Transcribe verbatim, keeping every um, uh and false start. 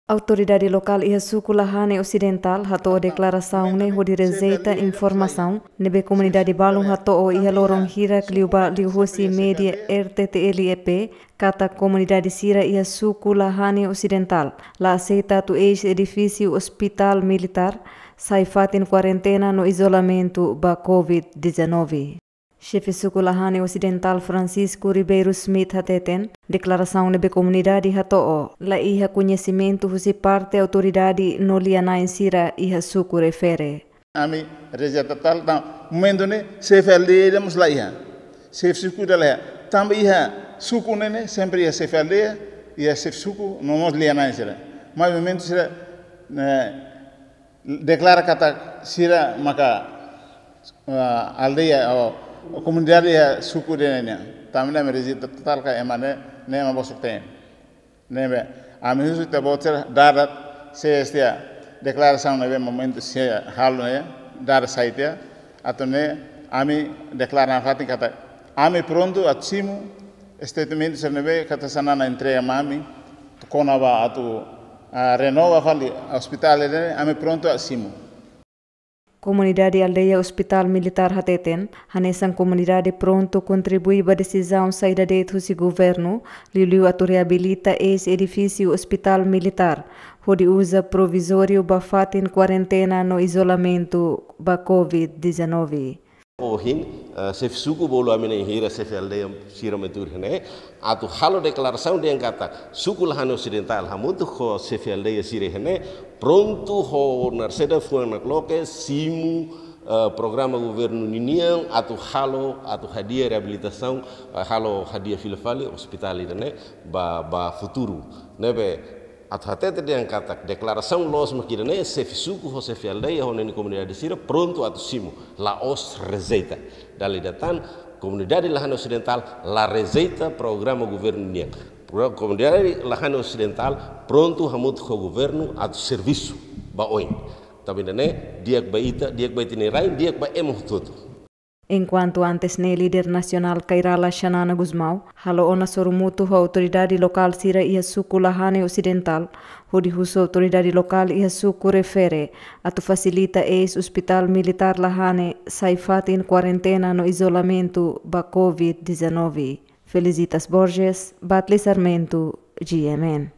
Autoridade lokál iha suku Lahane Osidentál hato'o deklarasaun ne'e hodi rejeita informasaun ne'ebé komunidade balun hato'o iha loron hirak liubá liuhosi média R T T L E P, katak komunidade sira iha suku Lahane Osidentál la aseita atu eis edifísiu Ospitál Militár sai fatin kuarentena no izolamentu ba covid dezanove. Xefe suku Lahane Osidentál Francisco Ribeiro Schmidt hateten, deklarasaun ne'ebé komunidade hato'o la iha koñesimentu husi parte autoridade no lia-na'in sira iha suku refere. Ami rejeita totál, tanba momentu ne'e xefe aldeia ida mós la iha. Xefe suku ida la iha. Tanba iha suku ne'e ne'e sempre iha xefe aldeia, iha xefe suku, no mós lia-na'in sira. Mas momentu sira, eh, deklara katak sira maka, ah, aldeia ou komunidade iha suku ida-ne'e nian. Tanba ne'e ami rejeita totál, ka ema ne'e, ne'e ema bosok-teen. Ne'ebé ami husu ita-boot sira dada, se esta deklarasaun ne'ebé momentu sira halo ne'e, dada sai tiha, atu nune'e ami deklara nafatin katak ami prontu atu simu statement sira ne'ebé katak Xanana entrega mai ami, kona-ba atu, ah, renova fali ospitál ne'e, ami prontu atu simu. Komunidade aldeia Ospitál Militár hateten, hanesan komunidade prontu kontribui ba desizaun saida de'it husi governu, liuliu atu reabilita eis edifísiu Ospitál Militár, hodi uza provizóriu ba fatin kuarentena no izolamentu ba covid dezanove. Ohin, eh, xefe suku bolu ami-nia hira xefe aldeia sira mai tuur iha ne'e, atu halo deklarasaun dehan katak suku Lahane Osidentál hamutuk ho xefe aldeia sira iha ne'e prontu ho narseda fuan nakloke simu, eh, programa governu ninian atu halo, atu hadi'a reabilitasaun, eh, halo hadi'a fila fali ospitál ida-ne'e ba, ba futuru. Ne'ebé atu hatete dehan katak deklarasaun loos mak ida-ne'e, xefe suku ho xefe aldeia ho ninia komunidade sira prontu atu simu, la'ós rejeita. Dala ida tan, komunidade Lahane Osidentál la rejeita programa governu nian. Pro-, komunidade Lahane Osidentál prontu hamutuk ho governu atu servisu ba oin. Tanba ida-ne'e di'ak ba ita, di'ak ba ita-nia rain, di'ak ba ema hotu-hotu. Enkuantu antes ne'e, líder nasionál Kay Rala Xanana Gusmão halo ona sorumutu ho autoridade lokál sira iha suku Lahane Osidentál, hodi husu autoridade lokál iha suku refere atu fasilita eis Ospitál Militár Lahane sai fatin kuarentena no izolamentu ba covid dezanove. Felicitas Borges, Batli Sarmento, G M N.